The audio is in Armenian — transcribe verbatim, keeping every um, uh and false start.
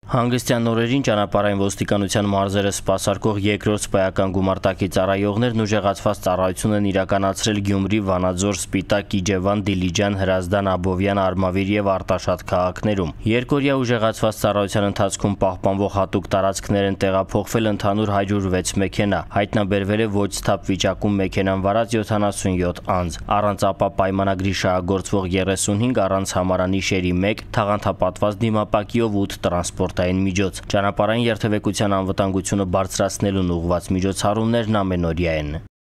Հանգստյան օրերին ճանապարհային ոստիկանության մարզերը սպասարկող երկրորդ սպայական գումարտակի ծառայողներն ուժեղացված ծառայություն են իրականացրել Գյումրի, Վանաձոր, Սպիտակ, Իջևան, Դիլիջան, Հրազդան, Աբովյան, Արմավիր և Արտաշատ քաղաքներում։ Երկօրյա ուժեղացված ծառայության ընթացքում պահպանվող հատուկ տարածքներ են տեղափոխվել ընդհանուր հարյուր վեց մեքենա, հայտնաբերվել է ոչ սթափ վիճակում մեքենան վարած յոթանասունյոթ անձ, առանց ապա պայմանագրի շահագործվող երեսունհինգ, առանց համարանիշերի մեկ, թաղանթապատված դիմապակիով ութ տրանսպորտ միջոց։ Ճանապարհային երթևեկության անվտանգությունը բարձրացնելուն ուղղված միջոցառումներն ամենօրյա են։